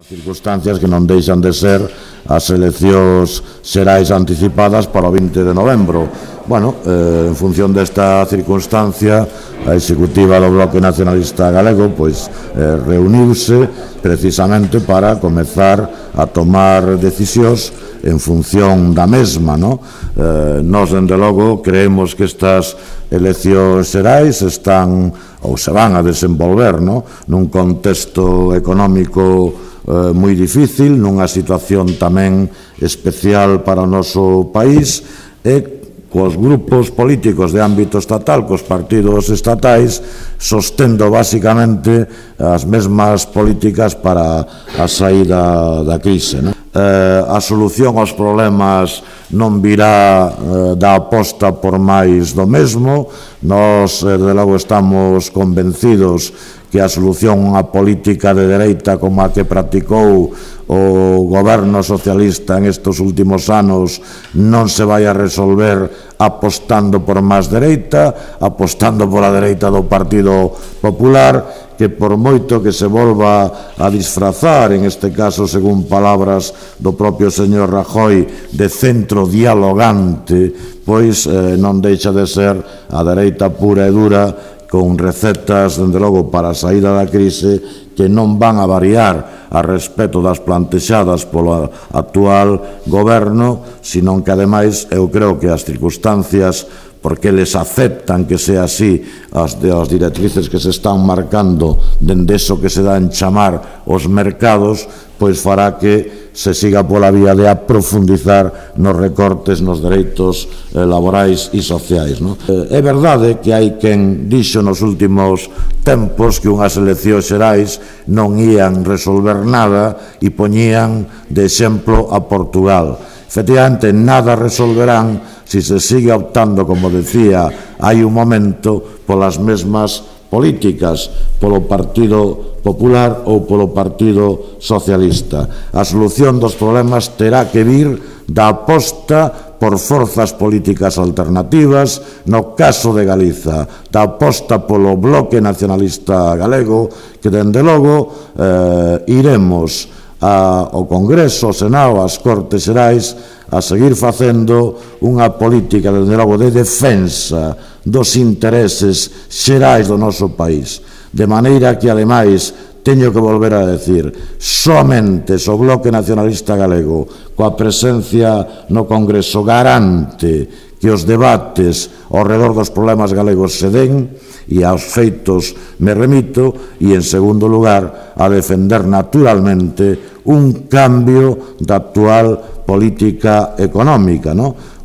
Circunstancias que non deixan de ser as eleccións xerais anticipadas para o 20 de novembro. Bueno, en función desta circunstancia, a executiva do Bloque Nacionalista Galego reuniuse precisamente para comezar a tomar decisións en función da mesma. Nós, dende logo, creemos que estas eleccións xerais están ou se van a desenvolver nun contexto económico moi difícil, nunha situación tamén especial para o noso país e cos grupos políticos de ámbito estatal, cos partidos estatais, sostendo basicamente as mesmas políticas para a saída da crise. A solución aos problemas non virá da aposta por máis do mesmo. Nós, de logo, estamos convencidos que a solución a política de dereita como a que practicou o goberno socialista en estes últimos anos non se vai a resolver apostando por máis dereita, apostando pola dereita do Partido Popular, que por moito que se volva a disfrazar, en este caso, según palabras do propio señor Rajoy, de centro dialogante, pois non deixa de ser a dereita pura e dura, con recetas, dende logo, para a saída da crise que non van a variar a respecto das plantexadas polo actual goberno, senón que, ademais, eu creo que as circunstancias, porque eles aceptan que sea así, as directrices que se están marcando dende eso que se dá en chamar os mercados, pois fará que se siga pola vía de aprofundizar nos recortes nos dereitos laborais e sociais. É verdade que hai quen dixo nos últimos tempos que unhas eleccións xerais non ían resolver nada e poñían de exemplo a Portugal. Efectivamente, nada resolverán se se sigue optando, como decía hai un momento, polas mesmas políticas, polo Partido Popular ou polo Partido Socialista. A solución dos problemas terá que vir da aposta por forzas políticas alternativas, no caso de Galiza, da aposta polo Bloque Nacionalista Galego, que, dende logo, iremos ao Congreso, ao Senado, ás Cortes Xerais, a seguir facendo unha política, dende logo, de defensa dos intereses xerais do noso país, de maneira que, ademais, teño que volver a decir, somente o Bloque Nacionalista Galego, coa presencia no Congreso, garante que os debates ao redor dos problemas galegos se den, e aos feitos me remito, e, en segundo lugar, a defender naturalmente un cambio da actual política económica,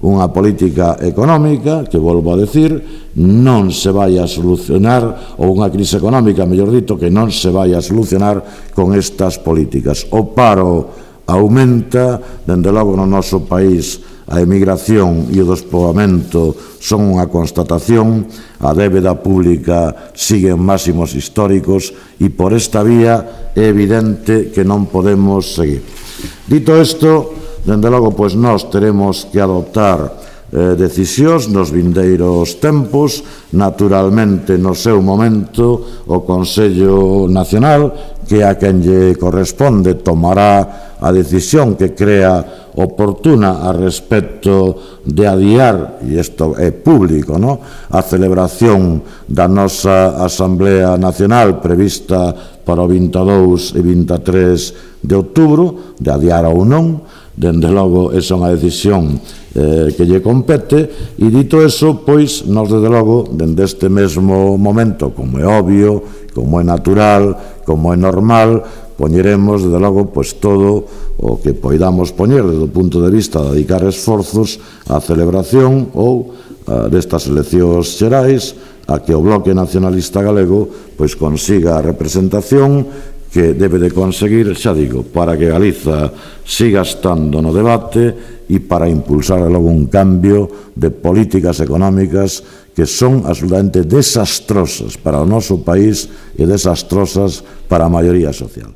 unha política económica que, volvo a decir, non se vai a solucionar, ou unha crise económica, mellor dito, que non se vai a solucionar con estas políticas. O paro aumenta, dende logo, no noso país, a emigración e o despoboamento son unha constatación, a débeda pública sigue en máximos históricos e por esta vía é evidente que non podemos seguir. Dito isto, dende logo, nós teremos que adoptar decisións nos vindeiros tempos. Naturalmente, no seu momento, o Consello Nacional, que a quen lle corresponde, tomará a decisión que crea oportuna a respecto de adiar, e isto é público, a celebración da nosa Asamblea Nacional prevista para o 22 e 23 de outubro, de adiar ou non. Dende logo, esa é unha decisión que lle compete, e dito eso, nós, desde logo, dende este mesmo momento, como é obvio, como é natural, como é normal, poñeremos, desde logo, todo o que poidamos poñer desde o punto de vista de dedicar esforzos á celebración ou destas eleccións xerais, a que o Bloque Nacionalista Galego consiga a representación que debe de conseguir, xa digo, para que Galiza siga estando no debate e para impulsar logo un cambio de políticas económicas que son absolutamente desastrosas para o noso país e desastrosas para a maioría social.